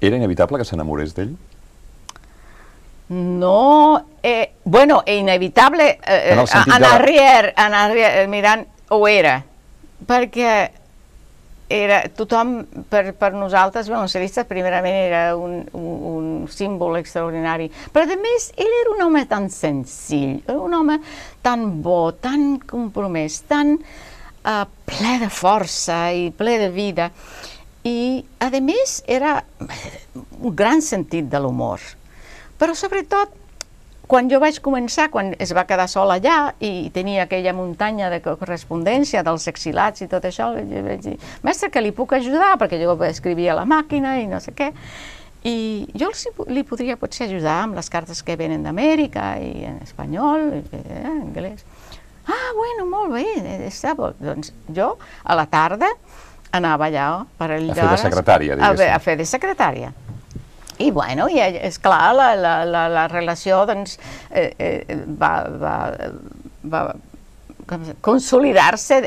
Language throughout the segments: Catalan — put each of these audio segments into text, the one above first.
Era inevitable que s'enamorés d'ell? No, bueno, inevitable, En el sentit en arrière, mirant, ho era, perquè era tothom, per nosaltres, violoncellistes, primerament era un símbol extraordinari, però a més ell era un home tan senzill, era un home tan bo, tan compromès, tan ple de força i ple de vida, i a més era un gran sentit de l'humor. Però sobretot, quan jo vaig començar, quan es va quedar sol allà i tenia aquella muntanya de correspondència dels exilats i tot això, jo vaig dir, mestre, que li puc ajudar? Perquè jo escrivia a la màquina i no sé què. I jo li podria potser ajudar amb les cartes que venen d'Amèrica i en espanyol, en anglès. Ah, bueno, molt bé, està bo. Doncs jo, a la tarda, anava allà per allà... A fer de secretària, diguéssim. A fer de secretària. I, bueno, esclar, la relació va consolidar-se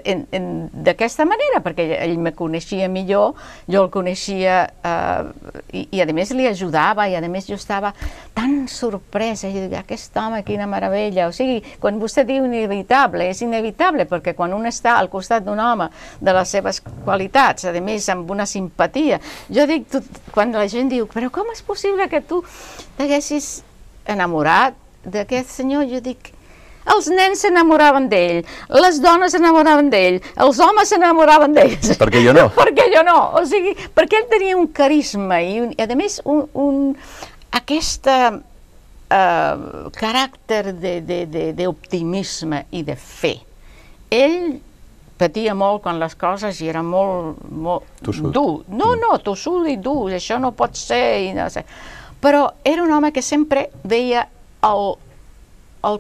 d'aquesta manera, perquè ell me coneixia millor, jo el coneixia i a més li ajudava, i a més jo estava tan sorpresa, i dic, aquest home, quina meravella. O sigui, quan vostè diu inevitable, és inevitable, perquè quan un està al costat d'un home de les seves qualitats, a més amb una simpatia, jo dic, quan la gent diu, però com és possible que tu t'haguessis enamorat d'aquest senyor? Jo dic, els nens s'enamoraven d'ell, les dones s'enamoraven d'ell, els homes s'enamoraven d'ells. Per què jo no? Perquè jo no. O sigui, perquè ell tenia un carisma i, a més, aquest caràcter d'optimisme i de fe. Ell patia molt quan les coses i era molt dur. No, tossut i dur, això no pot ser, i no sé. Però era un home que sempre veia al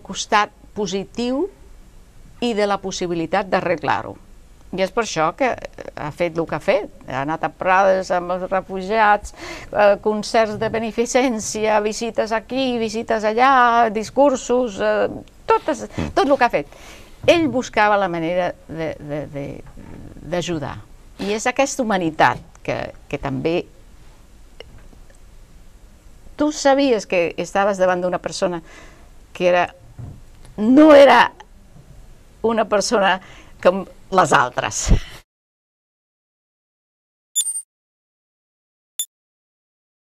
costat positiu i de la possibilitat d'arreglar-ho. I és per això que ha fet el que ha fet. Ha anat a Prades amb els refugiats, concerts de beneficència, visites aquí, visites allà, discursos, tot el que ha fet. Ell buscava la manera d'ajudar. I és aquesta humanitat que també... Tu sabies que estaves davant d'una persona que no era una persona com les altres.